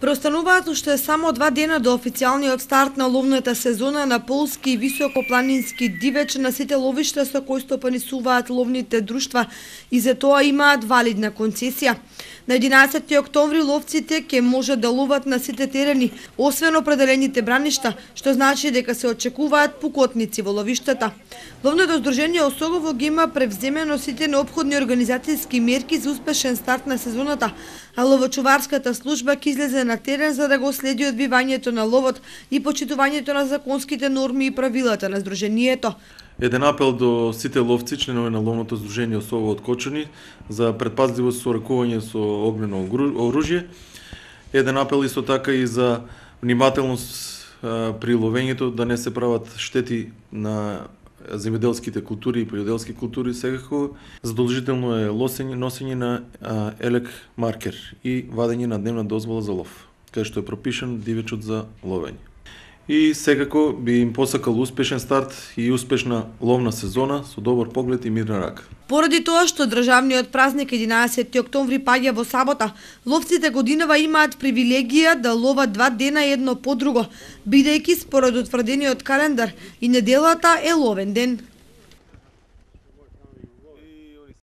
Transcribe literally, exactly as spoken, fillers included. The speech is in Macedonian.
Преостануваат уште само два дена до официјалниот старт на ловната сезона на полски и високопланински дивеч на сите ловишта со кои стопанисуваат ловните друштва и за тоа имаат валидна концесија. На единаесетти октомври ловците ќе можат да ловат на сите терени, освен определените браништа, што значи дека се очекуваат пукотници во ловиштата. Ловното здружение Осогово ги има превземено сите неопходни организацијски мерки за успешен старт на сезоната, а ловочуварската служба ќе излезе на терен за да го следи одбивањето на ловот и почитувањето на законските норми и правилата на здруженијето. Еден апел до сите ловци, членови на ловното здружение Осогово од Кочани, за предпазливост со ракување со огнено оружје. Еден апел исто така и за внимателност при ловењето, да не се прават штети на земјоделските култури и полјоделски култури. Секако задолжително е лосење, носење на елек маркер и вадење на дневна дозвола за лов, кај што е пропишан дивечот за ловење. И секако би им посакал успешен старт и успешна ловна сезона со добар поглед и мирна рака. Поради тоа што државниот празник единаесетти октомври паѓа во сабота, ловците годинава имаат привилегија да ловат два дена едно по друго, бидејќи според утврдениот календар и неделата е ловен ден.